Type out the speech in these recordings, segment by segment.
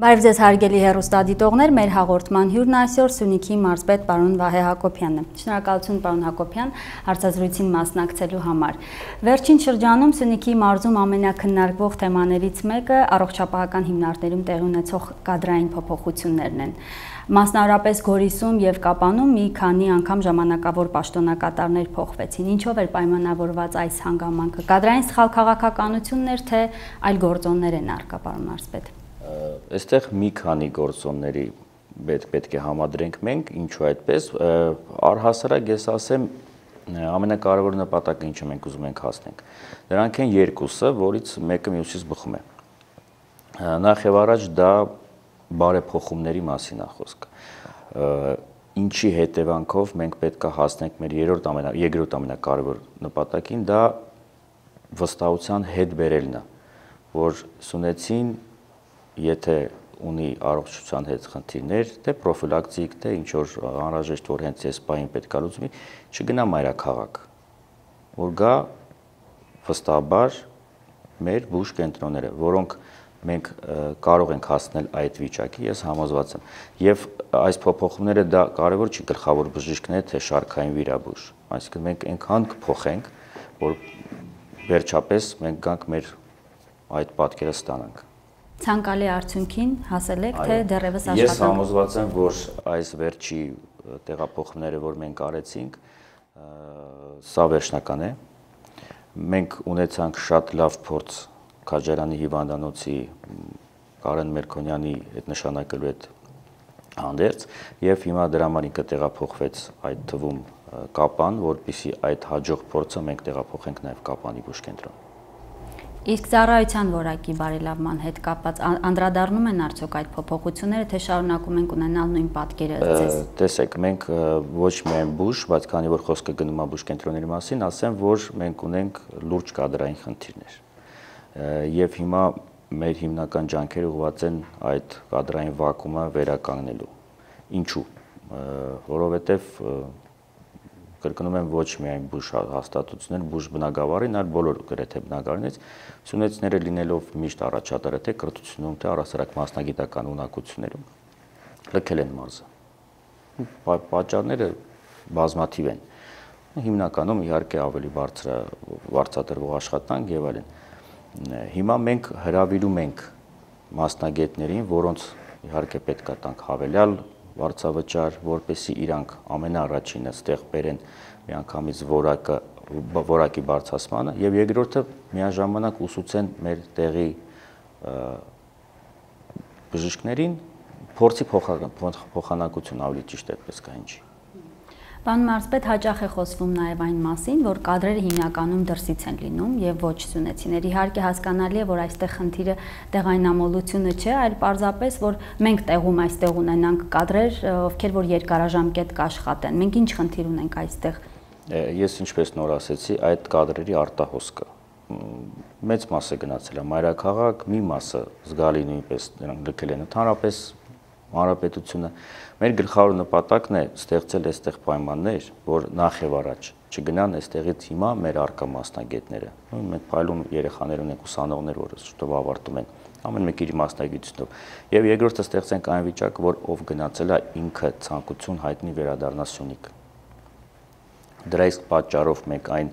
Բարև ձեզ հարգելի հեռուստադիտողներ, մեր հաղորդման հյուրն այսօր Սյունիքի մարզպետ պարոն Վահե Հակոբյանն է։ Շնորհակալություն պարոն Հակոբյան հարցազրույցին մասնակցելու համար։ Վերջին շրջանում Սյունիքի մարզում ամենակննարկվող թեմաներից մեկը առողջապահական հիմնարկներում տեղի ունեցող կադրային փոփոխություններն են։ Մասնավորապես Գորիսում եւ Կապանում մի քանի անգամ ժամանակավոր պաշտոնակատարներ փոխվեցին։ Ինչով էր պայմանավորված այս հանգամանքը։ Կադրային սխալ քաղաքականություններ թե այլ գործոններ են առկա, պարոն մարզպետ։ Այստեղ մի քանի գործոնների պետք է համադրենք մենք, ինչու այդպես, առհասարակ ես ասեմ, ամենակարևոր նպատակը ինչը մենք ուզում ենք հասնենք։ Դրանք են երկուսը, որից մեկը մյուսից բխում է։ Նախ եւ առաջ դա բարեփոխումների մասին է խոսքը։ Ինչի հետևանքով մենք պետք է հասնենք մեր երկրորդ ամենակարևոր նպատակին, դա վստահության հետ բերելն է, որ Սյունեցին եթե ունի առողջության հետ խնդիրներ, թե պրոֆիլակտիկ, թե ինչ որ անհրաժեշտ որ հենց այս պահին պետք է լուծվի, չգնա մայրաքաղաք, որ գա վստահաբար մեր բուժ կենտրոնները, որոնք մենք կարող ենք հասնել այդ վիճակի, ես համոզված եմ։ Եվ այս փոփոխումները դա կարևոր չի գլխավոր բժիշկներ, թե շարքային վիրաբույժ, այսինքն մենք այնքան կփոխենք, որ վերջապես մենք գանք մեր այդ պատկերը ստանանք։ Ցանկալի արդյունքին հասել եք, թե դեռևս աշխատանք։ Ես համոզված եմ, որ այս վերջի տեղափոխումները, որ մենք արեցինք, սա վերջնական է։ Մենք ունեցանք շատ լավ փորձ Քաջարյանի հիվանդանոցի Կարեն Մերքոնյանի հետ նշանակելու հետ հանդերձ, եւ հիմա դրա համար ինքը տեղափոխվեց այդ թվում Կապան, որպեսզի այդ հաջող փորձը մենք տեղափոխենք նաեւ Կապանի բուժ կենտրոն։ Իսկ ծառայության որակի բարելավման հետ կապված անդրադառնում են արդյոք այդ փոփոխությունները, թե շարունակում ենք ունենալ նույն պատկերը ձեզ։ Տեսեք, մենք ոչ միայն բուժ, բայց քանի որ խոսքը գնում է բուժ կենտրոնների մասին, ասեմ, որ մենք ունենք լուրջ կադրային խնդիրներ։ Եվ հիմա մեր հիմնական ջանքերը ուղղված են այդ կադրային վակուումը վերականգնելու։ Ինչու՞։ Որովհետև կրկնում եմ, ոչ միայն բուժ հաստատություններ, բուժ բնակավարին, այլ բոլոր գրեթե բնակավարներից սյունեցիները լինելով միշտ առաջատարը թե կրթությունում, թե առհասարակ մասնագիտական ունակություններում լքել են մարզը։ Պատճառները բազմաթիվ են։ Հիմնականում իհարկե ավելի բարձրատրվող աշխատանք եւ այլն։ Հիմա մենք հրավիրում ենք մասնագետներին, որոնց իհարկե պետք է տանք հավելյալ վարձավճար, որպեսզի իրանք ամենաառաջինը ստեղ բերեն միանգամից որակի բարձրացմանը եւ երկրորդը միաժամանակ ուսուցեն մեր տեղի բժիշկներին փորձի փոխանակություն ավելի ճիշտ այդպես կա ինչի։ Պարոն մարզպետ, հաճախ է խոսվում նաև այն մասին, որ կադրերը հիմնականում դրսից են լինում եւ ոչ սյունեցիներ։ Իհարկե հասկանալի է, որ այստեղ խնդիրը տեղայնամոլությունը չէ, այլ պարզապես որ մենք տեղում այստեղ ունենանք կադրեր, ովքեր որ երկարաժամկետ կաշխատեն։ Մենք ինչ խնդիր ունենք այստեղ։ Ես ինչպես նոր ասեցի, այդ կադրերի արտահոսքը մեծ մասը գնացել է մայրաքաղաք, մի մասը զգալի նույնպես նրանք լքել են ընդհանրապես հանրապետությունը։ Մեր գլխավոր նպատակն է ստեղծել այստեղ պայմաններ, որ նախ եւ առաջ չգնան այստեղից հիմա մեր արկա մասնագետները։ Մենք փայլուն երեխաներ ունենք, ուսանողներ, որ շուտով ավարտում են, ամեն մեկը իր մասնագիտությունով։ Եվ երկրորդը ստեղծենք այն վիճակը, որ ով գնացել է ինքը ցանկություն հայտնի վերադառնա Սյունիք։ Դրա իսկ պատճառով մենք այն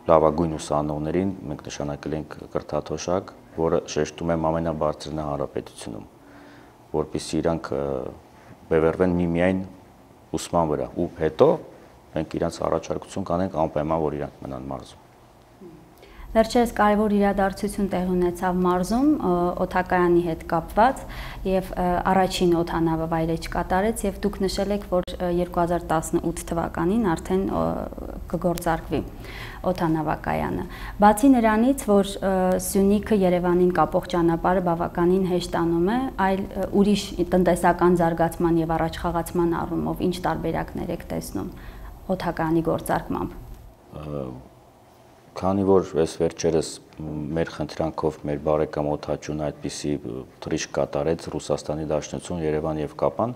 լավագույն ուսանողներին մենք նշանակել ենք կրթաթոշակ, որը շեշտում եմ ամենաբարձրն է հանրապետությունում, որպեսզի իրանք բևեռվեն միմիայն ուսման վրա ու հետո մենք իրանց առաջարկություն կանենք անպայման, որ իրանք մնան մարզում։ Վերջերս կարևոր իրադարձություն տեղի ունեցավ մարզում օդակայանի հետ կապված եւ առաջին օդանավը վայրէջք կատարեց եւ դուք նշել եք, որ 2018 թվականին արդեն կգործարկվի օդանավակայանը։ Բացի նրանից, որ Սյունիքը Երևանին կապող ճանապարհը բավականին հեշտանում է, այլ ուրիշ տնտեսական զարգացման եւ առաջխաղացման առումով ինչ տարբերակներ եք տեսնում օդակայանի գործարկմամբ։ Քանի որ այս վերջերս մեր խնդրանքով մեր բարեկամ օդաչուն այդպիսի թռիչք կատարեց Ռուսաստանի Դաշնություն, Երևան եւ Կապան,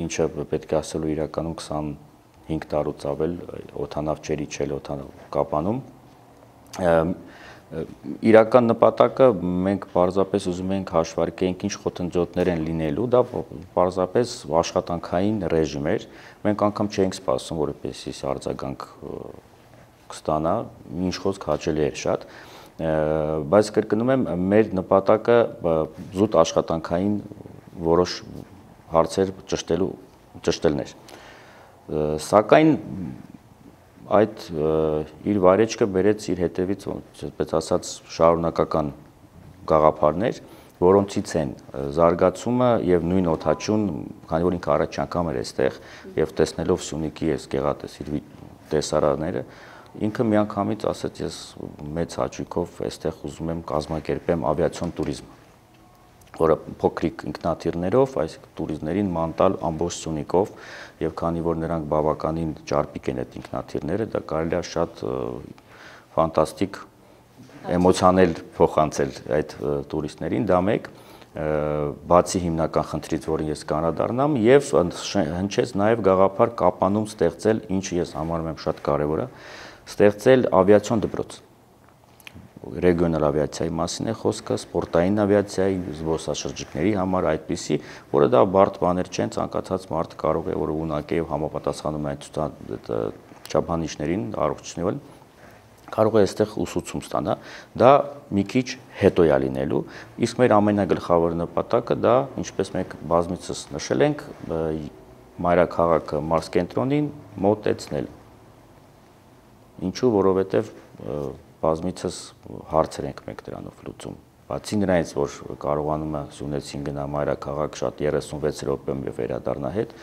ինչը պետք է ասելու իրականում 25 տարուց ավել օդանավ չէր իջել օդանավ Կապանում, Իրական նպատակը մենք պարզապես ուզում ենք հաշվարկենք ինչ խոթնջոտներ են լինելու, դա պարզապես աշխատանքային ռեժիմ էր։ Մենք անգամ չէինք սպասում, որպեսզի արձագանք կստանա, ինչ խոսք հաճելի էր շատ, բայց կրկնում եմ, մեր նպատակը զուտ աշխատանքային որոշ հարցեր ճշտելն էր։ Սակայն այդ իր վայրեջքը բերեց իր հետևից, այսպես ասած, շարունակական գաղափարներ, որոնցից են զարգացումը եւ նույն օդաչուն, քանի որ ինքը առաջ անգամ էր այստեղ եւ տեսնելով Սյունիքի այս գեղատեսիլ տեսարանները, ինքը միանգամից ասաց, ես մեծ հաճույքով այստեղ ուզում եմ կազմակերպեմ ավիացիոն տուրիզմ, որը փոքրիկ ինքնաթիռներով, այսինքն տուրիստներին ման տալ ամբողջ Սյունիքով եւ քանի որ նրանք բավականին ճարպիկ են այդ ինքնաթիռները, դա կարելի է շատ ֆանտաստիկ էմոցիաներ փոխանցել այդ տուրիստներին, դա մեկ, բացի հիմնական խնդրից, որին ես կանրադառնամ, եւ հնչեց նաեւ գաղափար Կապանում ստեղծել, ինչը ես համարում եմ շատ կարեւոր է, ստեղծել ավիացիոն դպրոց։ Ռեգիոնալ ավիացիայի մասին է խոսքը, սպորտային ավիացիայի, զբոսաշրջիկների համար այդպիսի, որը դա բարդ բաներ չեն, ցանկացած մարդ կարող է, որ ունակ է եւ համապատասխանում է այդ չափանիշներին, առողջությունին, կարող է այստեղ ուսուցում ստանա, դա մի քիչ հետո է լինելու, իսկ մեր ամենագլխավոր նպատակը դա, ինչպես մենք բազմիցս նշել ենք, մայրաքաղաքը մարզկենտրոնին մոտեցնել։ Ինչու, որովհետեւ բազմիցս հարցեր ենք մենք դրանով լուծում։ Բացի նրանից, որ կարողանում է Սյունեցին գնա մայրաքաղաք շատ 36 րոպեում եւ վերադառնա հետ,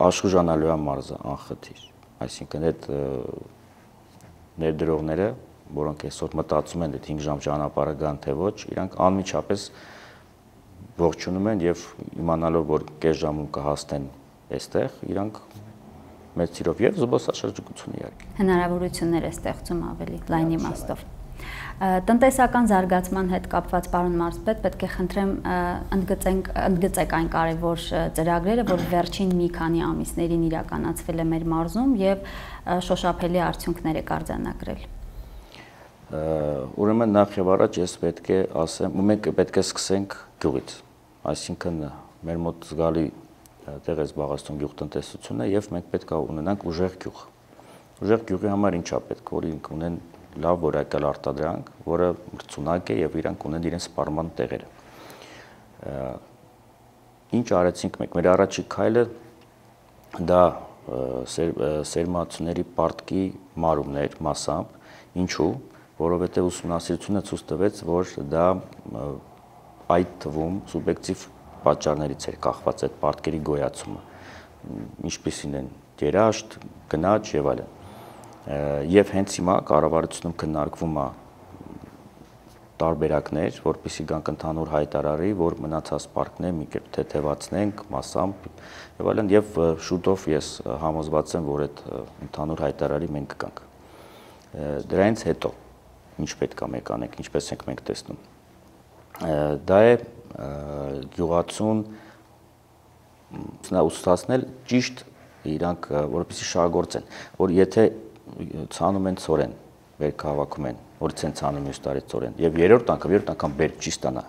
Աշխուժանալույան մարզը անխտիր։ Այսինքն այդ ներդրողները, որոնք այսօր մտածում են, այդ 5 ժամ ճանապարհը գան թե ոչ, իրանք անմիջապես ողջունում են եւ իմանալով, որ կես ժամում կհասնեն այստեղ, իրանք մեծ սիրով եւ զբոսաշրջիկություն իհարկե։ Հնարավորություններ է ստեղծում ավելի լայն իմաստով։ Տնտեսական զարգացման հետ կապված պարոն մարզպետ, պետք է խնդրեմ ընդգծեք այն կարևոր ծրագրերը, որ վերջին մի քանի ամիսներին իրականացվել է մեր մարզում եւ շոշափելի արդյունքներ է արձանագրել։ Ուրեմն նախ եւ առաջ ես պետք է ասեմ, մենք պետք է սկսենք գյուղից, այսինքն մեր մոտ զգալի տեղ է զբաղեցնում գյուղտնտեսությունը եւ մենք պետք է ունենանք ուժեղ գյուղ։ Ուժեղ գյուղի համար ինչա պետք, որ իրենք ունեն լավ որակյալ արտադրանք, որը մրցունակ է եւ իրանք ունեն իրենց սպառման տեղերը։ Ինչ արեցինք մենք, մեր առաջին քայլը դա սերմացուների պարտքի մարումն էր մասամբ, ինչու, որովհետեւ ուսումնասիրությունը ցույց տվեց, որ դա այդ թվում սուբյեկտիվ պատճառներից էր կախված այդ պարտքերի գոյացումը, ինչպիսին են երաշտ, գնաճ եւ այլն։ Եվ հենց հիմա կառավարությունում քննարկվում է տարբերակներ, որպեսզի գանք ընդհանուր հայտարարի, որ մնացած պարտքները մի կերպ թեթևացնենք մասամբ եւ այլն, եւ շուտով ես համոզված եմ, որ այդ ընդհանուր հայտարարի մենք կգանք։ Դրանից հետո ինչ պետք է մենք անենք, ինչպես ենք մենք տեսնում։ Դա է գյուղացուն ուսուցացնել ճիշտ իրանք, որպեսզի շահագործեն, որ եթե ցանում են ծորեն, բերք հավաքում են, որից են ցանում մյուս տարի ծորեն, եւ երրորդ անգամ բերք չի ստանա։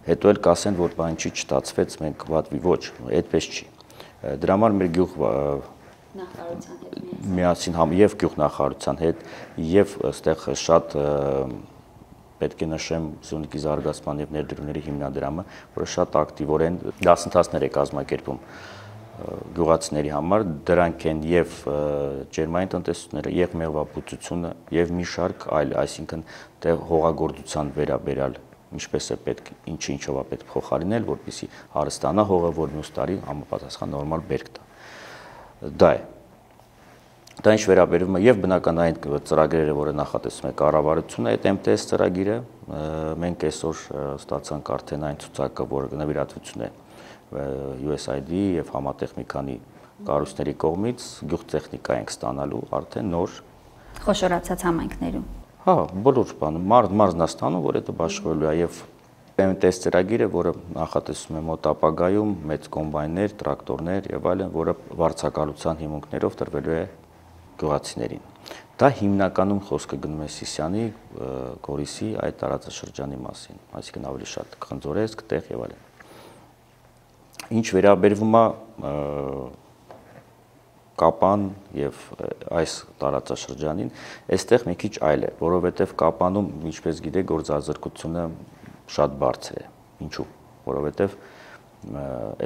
Հետո էլ կասեն, որ բան չի չստացվեց, մենք վատվի, ոչ, այդպես չի։ Դրա համար մեր գյուղ նախարարության հետ միասին եւ գյուղ նախարարության հետ եւ այստեղ շատ պետք է նշեմ Սյունիքի զարգացման եւ ներդրումների հիմնադրամը, որը շատ ակտիվորեն դասընթացներ է կազմակերպում գյուղացիների համար, դրանք են եւ ջերմային տնտեսությունները, եւ մեղվաբուծությունը, եւ մի շարք այլ, այսինքն դե հողագործության վերաբերյալ ինչպես է պետք, ինչով է պետք փոխարինել, որպեսզի հարստանա հողը, որ մյուս տարի համապատասխան նորմալ բերք տա։ Դա է։ Դա ինչ վերաբերում է եւ բնական այն ծրագրերը, որը նախատեսում է կառավարությունը, այդ MTS ծրագիրը, մենք այսօր ստացանք արդեն այն ցուցակը, որը նվիրատվություն է USAID եւ համատեղ մի քանի կառույցների կողմից գյուղտեխնիկա ենք ստանալու արդեն նոր խոշորացած համայնքներում։ Հա, բոլոր բանը մարզն է ստանում, որ դա բաշխվելու է եւ MTS ծրագիրը, որը նախատեսում է մոտ ապագայում մեծ կոմբայներ, տրակտորներ եւ այլն, որը վարձակալության հիմունքներով տրվելու է գյուղացիներին։ Դա հիմնականում խոսքը գնում է Սիսիանի, Գորիսի այդ տարածաշրջանի մասին, այսինքն ավելի շատ Խնձորեսկ, տեղ եւ այլն։ Ինչ վերաբերվում է Կապան եւ այս տարածաշրջանին, այստեղ մի քիչ այլ է, որովհետեւ Կապանում, ինչպես գիտեք, գործազրկությունը շատ բարձր է։ Ինչու՞։ Որովհետեւ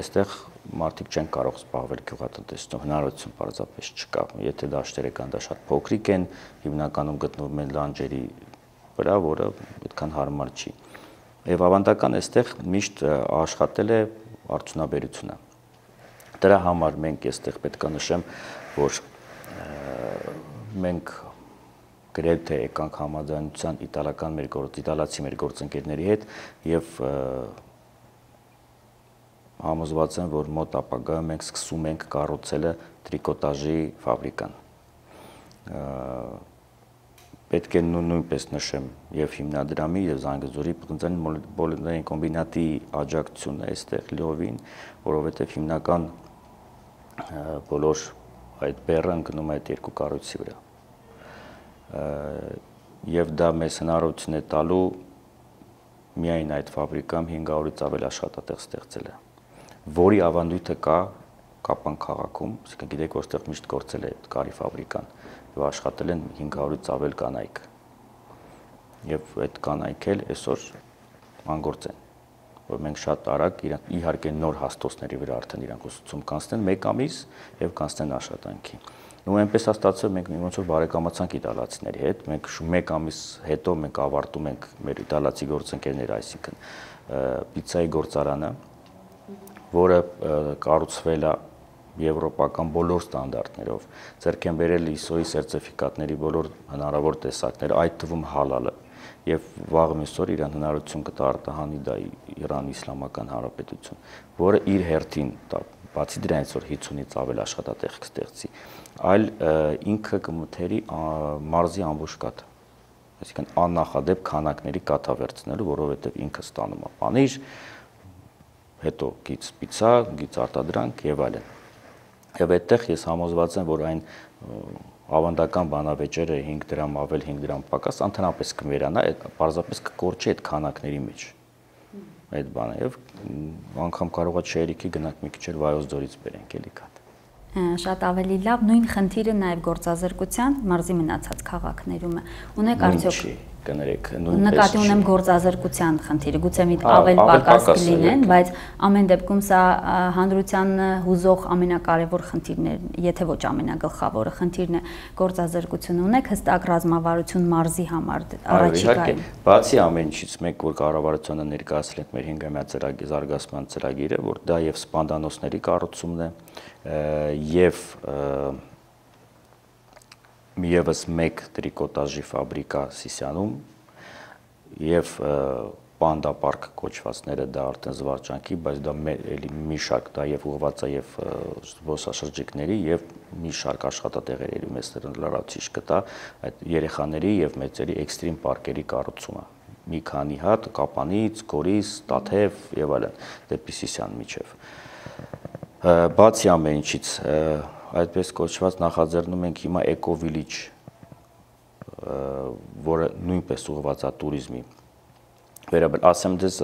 այստեղ մարդիկ չեն կարող զբաղվել գյուղատնտեսությամբ, հնարավորություն պարզապես չկա։ Եթե դաշտերը կան, դա շատ փոքրիկ են, հիմնականում գտնվում են լանջերի վրա, որը այդքան հարմար չի։ Եվ ավանդական այստեղ միշտ աշխատել է արդյունաբերությունը։ Դրա համար մենք այստեղ պետք է նշեմ, որ մենք գրեթե եկանք համաձայնության իտալացի մեր գործընկերների հետ եւ համոզված եմ, որ մոտ ապագայում մենք սկսում ենք կառուցելը տրիկոտաժի ֆաբրիկան։ Պետք է նույնպես նշեմ եւ հիմնադրամի եւ Զանգեզուրի պոլիմերային կոմբինատի աջակցությունը այստեղ լիովին, որովհետեւ հիմնական բոլոր այդ բեռը ընկնում է այդ երկու կառույցի վրա։ Եվ դա մեզ հնարավորություն է տալու միայն այդ ֆաբրիկայում 500-ից ավել աշխատատեղ ստեղծելը, որի ավանդույթը կա Կապան քաղաքում, այսինքն գիտեք, որտեղ միշտ գործել է կարի ֆաբրիկան եւ աշխատել են 500-ից ավել կանայք։ Եվ այդ կանայք էլ այսօր անգործ են, որ մենք շատ արագ իհարկե նոր հաստոցների վրա արդեն իրանք ուսուցում կանցնեն 1 ամիս եւ կանցնեն աշխատանքի։ Ու այնպես է ստացվել, մենք ոնց որ բարեկամացանք իտալացիների հետ, մենք 1 ամիս հետո մենք ավարտում ենք մեր իտալացի գործընկերները, այսինքն պիցցայի գործարանը, որը կառուցվել է եվրոպական բոլոր ստանդարտներով, ձեռք են բերել ISO-ի սերտիֆիկատների բոլոր հնարավոր տեսակները, այդ թվում հալալը, եւ վաղ միսօր իրան հնարավորություն կտա արտահանի դա Իրանի Իսլամական Հանրապետություն, որը իր հերթին, բացի դրանից, որ 50-ից ավել աշխատատեղ կստեղծի, այլ ինքը կմթերի մարզի ամբողջ կաթը, այսինքն աննախադեպ քանակների կաթա վերցնելու, որովհետեւ ինքը ստանում է պանիր, հետո գից պիցցա, գից արտադրանք եւ այլն։ Եվ այդտեղ ես համոզված եմ, որ այն ավանդական բանավեճերը 5 դրամ ավել 5 դրամ պակաս ընդհանրապես կվերանա, պարզապես կկորչի այդ քանակների մեջ։ Այդ բանը եւ անգամ կարողա շերիկի գնանք մի քիչ էլ Վայոց ձորից բերենք էլի կաթ։ Շատ ավելի լավ, նույն խնդիրը նաև գործազրկության մարզի մնացած քաղաքներում է։ Ունեք արդյոք կներեք, նկատի ունեմ գործազրկության խնդիրը, գուցե մի ավել պակաս կլինեն, բայց ամեն դեպքում սա հանրությանը հուզող ամենակարևոր խնդիրն է, եթե ոչ ամենագլխավորը խնդիրն է գործազրկությունը։ Ունեք հստակ ռազմավարություն մարզի համար առաջիկայում։ Բացի ամեն ինչից, մենք որ կառավարությունը ներկայացրել ենք մեր 5-ամյա զարգացման ծրագիրը, որ դա եւ սպանդանոցների կառուցումն է, եւ Եվս մեկ տրիկոտաժի ֆաբրիկա Սիսիանում եւ Պանդա պարկ կոչվածները դա արդեն զվարճանքի, բայց դա էլի մի շարք դա եւ ուղղված է եւ զբոսաշրջիկների եւ մի շարք աշխատատեղերի մեծ լրացուցիչ կտա այդ երեխաների եւ մեծերի էքստրիմ պարկերի կառուցումը։ Մի քանի հատ Կապանից, Գորիս, Տաթև եւ այլն, դեպի Սիսիան միջև։ Բացի ամեն ինչից այդպես կոչված նախաձեռնում ենք հիմա Eco Village, որը նույնպես ուղղված է туриզմի վերաբերյալ։ Ասեմ դες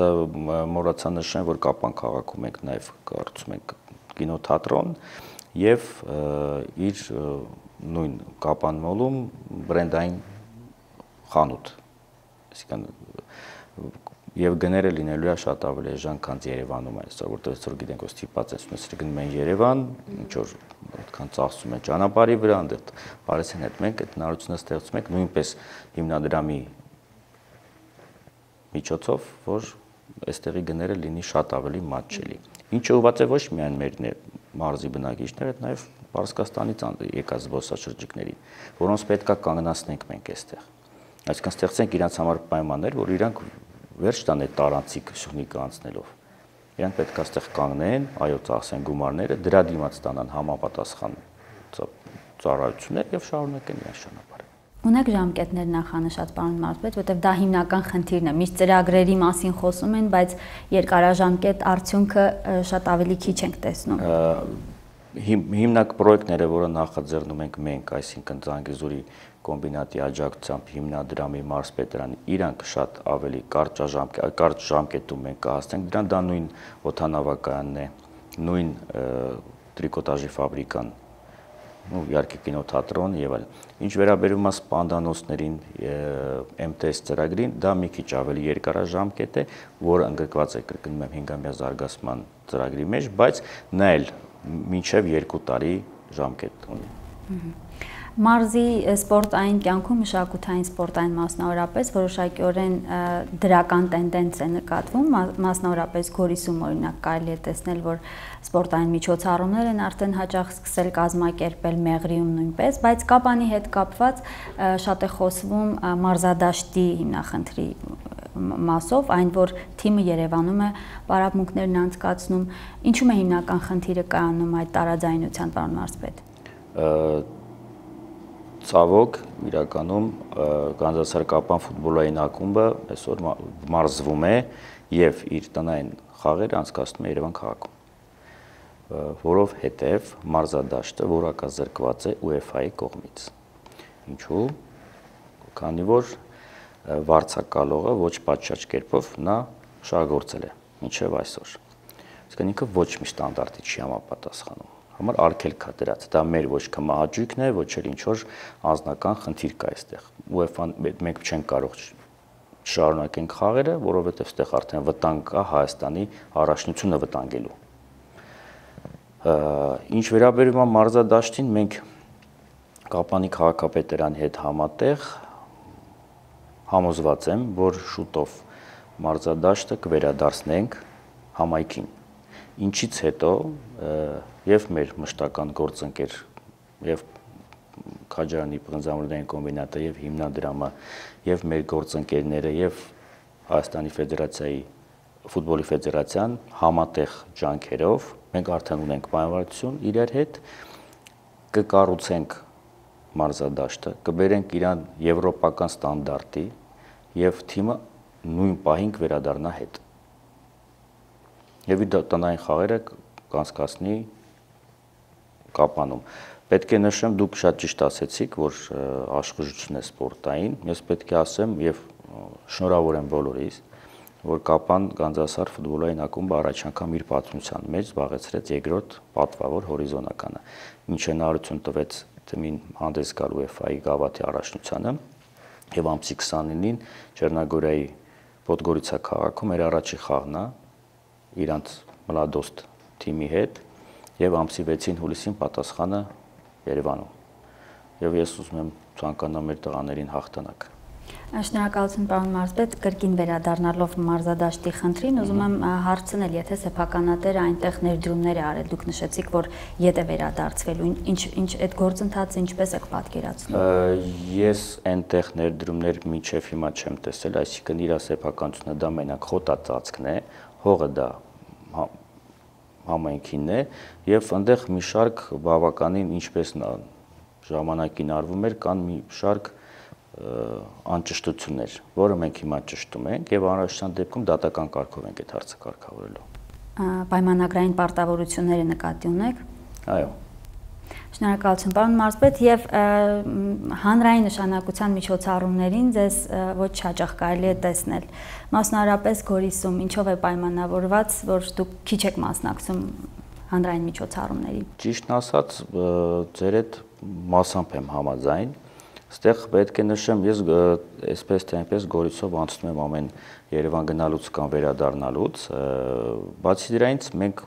մոռացա նշեմ, որ Կապան քաղաքում ենք նաև կառուցում ենք կինոթատրոն եւ իր նույն Կապան մոլում բրենդային խանութ, այսինքն եւ գները լինելու է շատ ավելի էժան, քան Երևանում այսօր, որտեղ այսօր գիտենք, որ ստիպած են ունեցել գնում են Երևան, ինչ որ այդքան ծախսում են ճանապարհի վրա, այնտեղ Փարիսին հետ մենք այդ հնարավորությունը ստեղծում ենք նույնպես հիմնադրամի միջոցով, որ այստեղի գները լինի շատ ավելի մատչելի։ Ինչը ուղղված է ոչ միայն մեր մարզի բնակիչները, այլ նաեւ Պարսկաստանից եկած զբոսաշրջիկներին, որոնց պետքա կանգնացնենք մենք այստեղ։ Այսինքն ստեղծենք իրancs համար պայմաններ, որ իրանք վերջ տան այդ տարանցիկ շնիկը անցնելով։ Իրանք պետք է այստեղ կանգնեն, այո, ծախսեն գումարները, դրա դիմաց ստանան համապատասխան ծառայություններ եւ շարունակեն իրենց ճանապարհը։ Ունեք ժամկետներ նախանշած, պարոն Մարզպետ, որտեղ դա հիմնական խնդիրն է։ Միշտ ծրագրերի մասին խոսում են, բայց երկարաժամկետ արդյունքը շատ ավելի քիչ ենք տեսնում։ հիմնակ պրոյեկտները, որը նախաձեռնում ենք մենք, այսինքն Զանգեզուրի կոմբինատի աջակցությամբ հիմնադրամի մարզպետարանի, իրանք շատ ավելի կարճ ժամկետում մենք կհասնենք դրան, դա նույն օդանավակայանն է, նույն տրիկոտաժի ֆաբրիկան, իհարկե կինոթատրոն եւ այլն։ Ինչ վերաբերում է սպանդանոցներին, MTS ծրագրին, դա մի քիչ ավելի երկարաժամկետ է, որը ընդգրկված է, կրկնում եմ, 5-ամյա զարգացման ծրագրի մեջ, բայց նա էլ մինչև 2 տարի ժամկետ ունի։ Մարզի սպորտային կյանքում մշակութային սպորտային մասնավորապես որոշակիորեն դրական տենդենց է նկատվում, մասնավորապես Գորիսում օրինակ կարելի է տեսնել, որ սպորտային միջոցառումներ են արդեն հաճախ սկսել կազմակերպել, Մեղրիում նույնպես, բայց Կապանի հետ կապված շատ է խոսվում մարզադաշտի հիմնախնդրի մասով, այն որ թիմը Երևանում է պարապմունքներն անցկացնում, ինչու՞մ է հիմնական խնդիրը կայանում այդ տարաձայնության, պարոն մարզպետ։ Ցավոք, իրականում Գանձասար Կապան ֆուտբոլային ակումբը այսօր մարզվում է եւ իր տնային խաղերը անցկացնում է Երևան քաղաքում, որովհետեւ մարզադաշտը որակազրկված է UEFA-ի կողմից։ Ինչու՞։ Քանի որ վարձակալողը ոչ պատշաճ կերպով նա շահագործել է մինչև այսօր։ Իսկն ինքը ոչ մի ստանդարտի չի համապատասխանում։ Համար արգելք է դրած, դա մեր ոչ կմահաճույքն է, ոչ էլ ինչ որ անձնական խնդիր կա այստեղ։ UEFA-ն մենք չենք կարող շարունակենք խաղերը, որովհետև այստեղ արդեն վտանգ կա Հայաստանի առաջնությունը վտանգելու։ Ինչ վերաբերում է մարզադաշտին, մենք Կապանի քաղաքապետարանի հետ համատեղ համոզված եմ, որ շուտով մարզադաշտը կվերադարձնենք համայնքին։ Ինչից հետո եւ մեր մշտական գործընկեր եւ Քաջարյանի պղնձամրդային կոմբինատը եւ հիմնադրամը եւ մեր գործընկերները եւ Հայաստանի Ֆեդերացիայի ֆուտբոլի ֆեդերացիան համատեղ ջանքերով մենք արդեն ունենք պայմանավորություն իրար հետ կկառուցենք մարզադաշտը, կբերենք իրան եվրոպական ստանդարտի եւ թիմը նույն պահին կվերադառնա հետ։ Եվ իր տնային խաղերը կանցկացնի Կապանում։ Պետք է նշեմ, դուք շատ ճիշտ ասեցիք, որ աշխուժություն է սպորտային, ես պետք է ասեմ եւ շնորհավոր եմ բոլորիս, որ Կապան Գանձասար ֆուտբոլային ակումբը առաջ անգամ իր պատմության մեջ զբաղեցրեց երկրորդ պատվավոր հորիզոնականը, ինչ հնարավորություն տվեց թիմին հանդես գալ UEFA-ի գավաթի առաջնությանը եւ ամսի 29-ին Չեռնագորիայի Պոդգորիցա քաղաքում էր առաջի խաղն իրանց մլադոստ թիմի հետ եւ ամսի 6-ին հուլիսին պատասխանը Երևանում։ Եվ ես ուզում եմ ցանկանամ մեր տղաներին հաղթանակ։ Շնորհակալություն պարոն մարզպետ, կրկին վերադառնալով մարզադաշտի խնդրին, ուզում եմ հարցնել, եթե սեփականատերը այնտեղ ներդրումներ է արել, դուք նշեցիք, որ ետ է վերադարձվելու, ինչ այդ գործընթացը ինչպես եք պատկերացնում։ Ես այնտեղ ներդրումներ մինչև հիմա չեմ տեսել, այսինքն իր սեփականությունը դա մենակ խոտածածկն է, հողը դա համայնքինն է եւ այնտեղ մի շարք բավականին ինչպես ժամանակին արվում էր, կան մի շարք անճշտություններ, որը մենք հիմա ճշտում ենք եւ անհրաժեշտության դեպքում դատական կարգով ենք այդ հարցը կարգավորելու։ Պայմանագրային պարտավորությունները նկատի ունեք։ Այո։ Շնորհակալություն պարոն մարզպետ եւ հանրային նշանակության միջոցառումներին ձեզ ոչ հաճախ կարելի է տեսնել։ Մասնավորապես Գորիսում ինչով է պայմանավորված, որ դուք քիչ եք մասնակցում հանրային միջոցառումներին։ Ճիշտն ասած, ձեր այդ մասամբ եմ համաձայն։ Այստեղ պետք է նշեմ, ես այսպես թե այնպես Գորիսով անցնում եմ ամեն Երևան գնալուց կամ վերադառնալուց, բացի դրանից մենք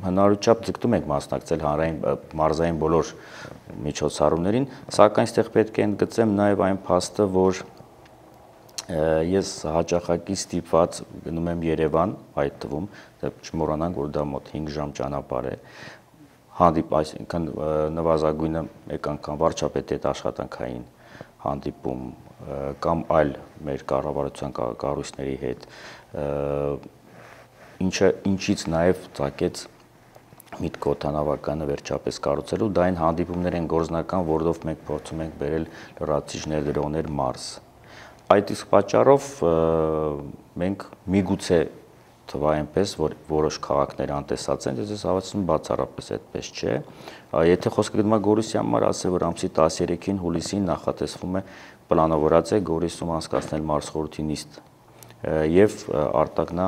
հնարավորությամբ ձգտում ենք մասնակցել հանրային մարզային բոլոր միջոցառումներին, սակայն այստեղ պետք է ընդգծեմ նաև այն փաստը, որ ես հաճախակի ստիպված գնում եմ Երևան, այդ թվում, չմոռանանք, որ դա մոտ 5 ժամ ճանապարհ է, այսինքն նվազագույնը մեկ անգամ վարչապետի հետ աշխատանքային հանդիպում կամ այլ մեր կառավարության կառույցների հետ, ինչից նաև ծագեց միտքը օդանավականը վերջապես կառուցելու, դա այն հանդիպումներ են գործնական, որով մենք փորձում ենք բերել լրացիչ ներդրողներ մարզ։ Այդ իսկ պատճառով մենք միգուցե թվա այնպես, որ որոշ քաղաքներ անտեսած են, ես հավատում եմ բացառապես այդպես չէ։ Եթե խոսքը գնում է Գորիսի համար, ասել որ ամսի 13-ին հուլիսին նախատեսվում է պլանավորած է Գորիսում անցկացնել մարզխորհրդի նիստ եւ արտակնա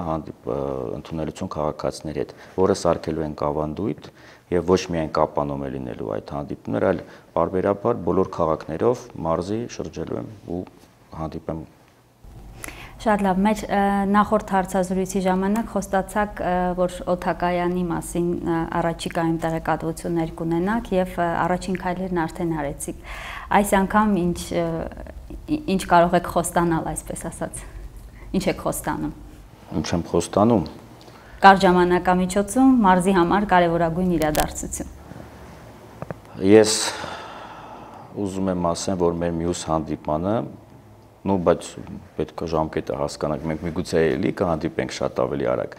ընդունելություն քաղաքացիների հետ, որը սարքելու են կավանդույթ եւ ոչ միայն Կապանում է լինելու այդ հանդիպումներ, այլ բարբերաբար բոլոր քաղաքներով մարզի շրջելու եմ ու հանդիպեմ։ Շատ լավ, մեր նախորդ հարցազրույցի ժամանակ խոստացաք, որ օդակայանի մասին առաջիկայում տեղեկատվություններ կունենաք եւ առաջին քայլերն արդեն արեցիք։ Այս անգամ ինչ կարող եք խոստանալ, այսպես ասած։ Ինչ եք խոստանում։ Ինչ եմ խոստանում։ Կարճ ժամանակամիջոցում մարզի համար կարևորագույն իրադարձություն։ Ես ուզում եմ ասեմ, որ մեր մյուս հանդիպանը, բայց պետք է ժամկետը հասկանանք, մենք միգուցե էլի կհանդիպենք շատ ավելի արագ,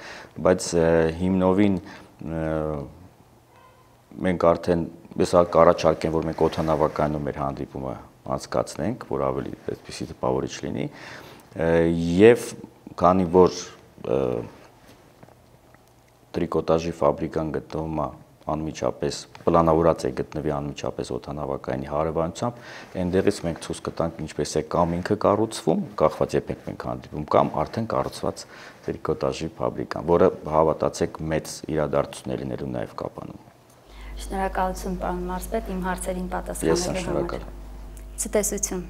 բայց հիմնովին մենք արդեն ես կառաջարկեմ, որ մենք օդանավակայանում մեր հանդիպումը անցկացնենք, որ ավելի այդպիսի տպավորիչ լինի, եւ քանի որ տրիկոտաժի ֆաբրիկան գտնվում է անմիջապես պլանավորած է գտնվի անմիջապես օդանավակայանի հարևանությամբ, այնտեղից մենք ցույց կտանք ինչպես է կամ ինքը կառուցվում, կախված երբ մենք հանդիպում, կամ արդեն կառուցված տրիկոտաժի ֆաբրիկան, որը հավատացեք մեծ իրադարձություններ լինելու նաև Կապանում։ Շնորհակալություն, պարոն մարզպետ, իմ հարցերին պատասխանելու համար։ Ես շնորհակալ։ Ցտեսություն։